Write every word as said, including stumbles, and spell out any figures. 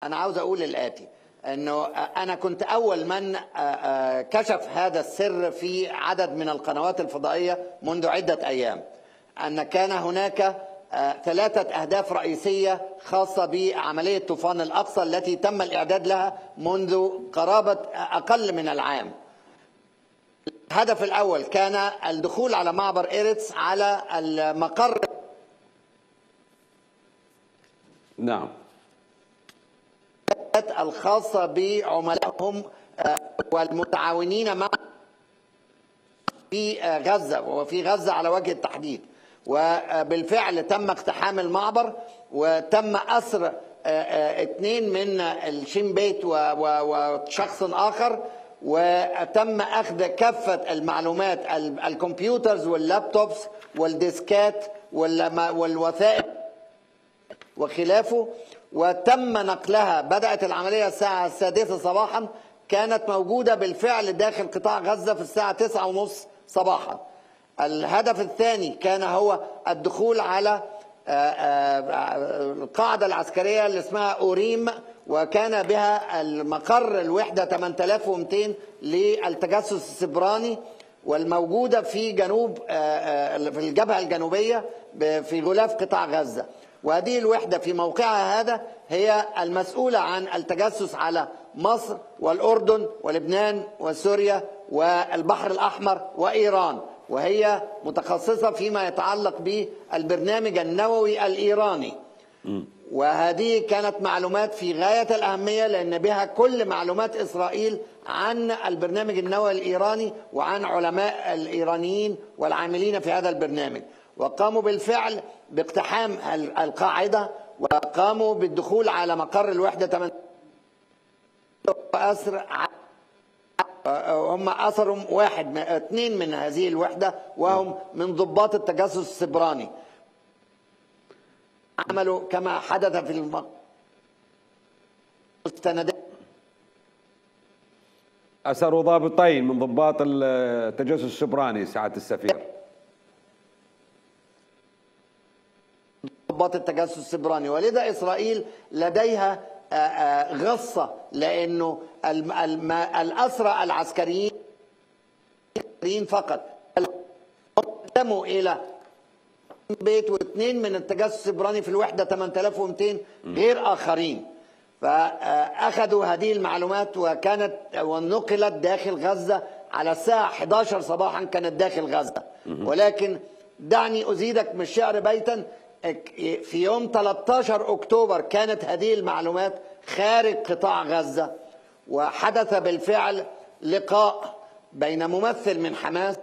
أنا عاوز أقول الآتي، أنه أنا كنت أول من كشف هذا السر في عدد من القنوات الفضائية منذ عدة أيام، أن كان هناك ثلاثة أهداف رئيسية خاصة بعملية طوفان الأقصى التي تم الإعداد لها منذ قرابة أقل من العام. الهدف الأول كان الدخول على معبر إيرتس على المقر نعم الخاصة بعملائهم والمتعاونين مع في غزة وفي غزة على وجه التحديد. وبالفعل تم اقتحام المعبر وتم أسر اثنين من الشين بيت وشخص آخر، وتم أخذ كافة المعلومات، الكمبيوترز واللابتوبس والديسكات والوثائق وخلافه، وتم نقلها. بدأت العملية الساعة السادسة صباحا، كانت موجودة بالفعل داخل قطاع غزة في الساعة تسعة ونصف صباحا. الهدف الثاني كان هو الدخول على القاعدة العسكرية اللي اسمها أوريم، وكان بها المقر الوحدة ثمانية آلاف ومئتين للتجسس السبراني، والموجودة في جنوب في الجبهة الجنوبية في غلاف قطاع غزة. وهذه الوحدة في موقعها هذا هي المسؤولة عن التجسس على مصر والأردن ولبنان وسوريا والبحر الأحمر وإيران، وهي متخصصة فيما يتعلق بالبرنامج النووي الإيراني. وهذه كانت معلومات في غاية الأهمية، لأن بها كل معلومات إسرائيل عن البرنامج النووي الإيراني وعن علماء الإيرانيين والعاملين في هذا البرنامج. وقاموا بالفعل باقتحام القاعدة، وقاموا بالدخول على مقر الوحدة ثمانية وأسر هم أسروا واحد اثنين من هذه الوحدة، وهم من ضباط التجسس السبراني. عملوا كما حدث في المستندات، أسروا ضابطين من ضباط التجسس السبراني سعادة السفير. ضباط التجسس السبراني، ولذا إسرائيل لديها غصة، لأنه الأسرى العسكريين فقط قدموا إلى بيت واثنين من التجسس السبراني في الوحدة ثمانية آلاف ومئتين غير آخرين. فأخذوا هذه المعلومات وكانت ونقلت داخل غزة على الساعة إحدى عشرة صباحا، كانت داخل غزة. ولكن دعني أزيدك من الشعر بيتا، في يوم ثلاثة عشر أكتوبر كانت هذه المعلومات خارج قطاع غزة، وحدث بالفعل لقاء بين ممثل من حماس